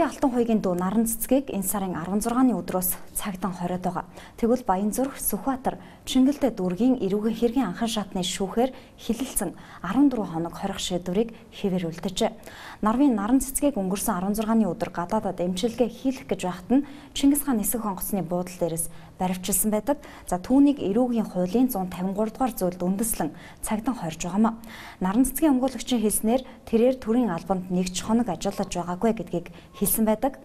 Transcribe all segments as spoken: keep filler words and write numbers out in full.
Ардын алтан хуйгийн дүү наран цэцгийг энэ сарын арван зургааны өдрөөс цагдаа хориод байгаа. Тэгвэл Баянзүрх, Сүхбаатар, Чингэлдэ дүүргийн эрүүгийн хэргийн анхан шатны шүүхээр хилэлцэн арван дөрвөн хоног хорих шийдвэрийг хэвээр үлдэжээ. Нарвын наран цэцгийг өнгөрсөн арван зургааны өдөр гадаадад эмчилгээ хийх гэж байхад нь Чингис хаан нисэх онгоцны буудал дээрээс баривчилсан байдаг. За түүнийг эрүүгийн хуулийн зуун тавин гурав дугаар зүйлд үндэслэн цагдаа хорж байгаамаа. Наран цэцгийн өмгөөлөгчийн хэлснээр тэрээр төрийн албанд нэг ч хоног ажиллаж байгаагүй гэдгийг хэлсэн байдаг.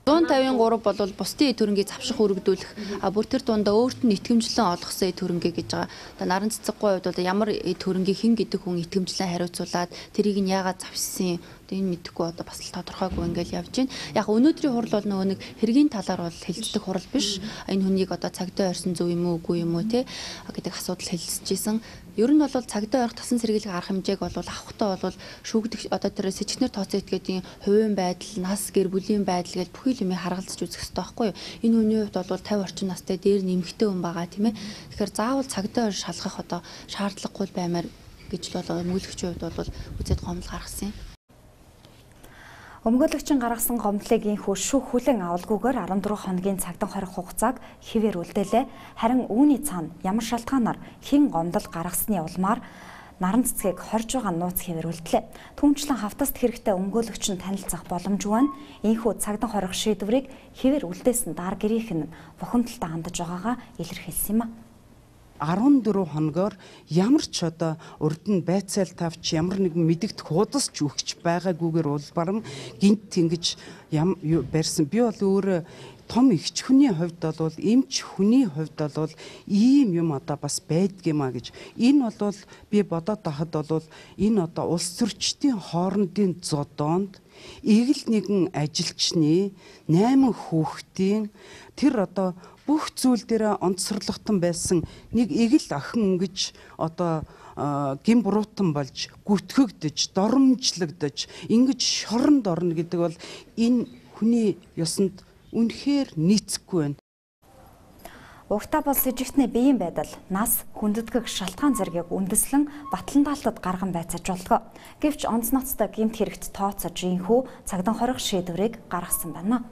зуун тавин гурав бол бусдын төрөнгийг завших өргөдүүлэх, а бүр тэр дундаа өөрт нь итгэмжлэн олгосон төрөнгийг гэж байгаа. Одоо наран цэцэггүй хувьд бол ямар төрөнгийг хэн гэдэг хүн итгэмжлэн хариуцуулаад тэрийг нь яагаад завшсан энэ мэдэхгүй одоо бас л тодорхойгүй ингээл явж байна. Яг өнөөдрийн хурал бол нөгөө нэг хэргийн талаар бол хэлцдэг хурал биш. Энэ хүнийг одоо цагдаа орсон зөв юм уу үгүй юм уу те гэдэг асуудал хэлэлцэжсэн. Ер нь бол цагдаа орох тасан сэргийлэх арга хэмжээг бол авахтаа бол шүүгдэх одоо тэр сэжигчнэр тооцоо этгээдийн хувийн байдал, нас, гэр бүлийн байдал гэж бүхий л юмыг харгалзаж үзэх хэрэгтэй байхгүй юу? Энэ хүний хувьд бол тавин орчим настай дээр нэмэгтэй хүн байгаа тийм ээ. Тэгэхээр заавал цагдаа ор шалгах одоо шаардлагагүй баймаар гэж л бол өмгөөлөгчийн хувьд бол үзээд гомдол гаргасан юм. Өмгөөлөгчин гаргасан гомдлыг инхүү шүүх хүлэн авалгүйгээр арван дөрвөн хоногийн цагдаа хорих хугацааг хэвээр үлдээлээ. Харин үүний цаана ямар шалтгаанаар хэн гомдол гаргасны улмаар наран цэцгийг хорж байгаа нууц хэвээр үлдлээ. Түүнчлэн хавтаст хэрэгтэй өмгөөлөгч нь танилцах боломжгүй нь инхүү цагдаа хорих шийдвэрийг хэвээр үлдээсэн дар гэрийнх нь бухимдалтай хандаж байгаагаа илэрхийлсэн юм а. арван дөрвөн хоногоор ямар ч одоо урд нь байцаал тавч ямар нэгэн мэдэгдэх худасч өгч байгаагүйгээр улбарам гинт ингэж барьсан. Би бол өөр том ихч хүний хувьд бол эмч хүний хувьд бол ийм юм одоо бас байдгиймаа гэж энэ бол би бодоод тахад бол энэ одоо улс төрчдийн хоорондын зодоонд эгэл нэгэн ажилчны найман хүүхдийн тэр одоо бүх зүйл дээр онцорлогтон байсан нэг эгэл охин гэж одоо гин буруутан болж гүтгэгдэж доромжлогдож ингэж шоронд орно гэдэг бол энэ хүний ёсонд үнэхээр нийцэхгүй байна. Угтаа бол сэжигтний биеийн байдал, нас, хүндэтгэх шалтгаан зэргийг үндэслэн батлан даалтад гарган байцааж болдгоо. Гэвч онц ноцтой гэмт хэрэгт тооцож инхүү цагдаа хорих шийдвэрийг гаргасан байна.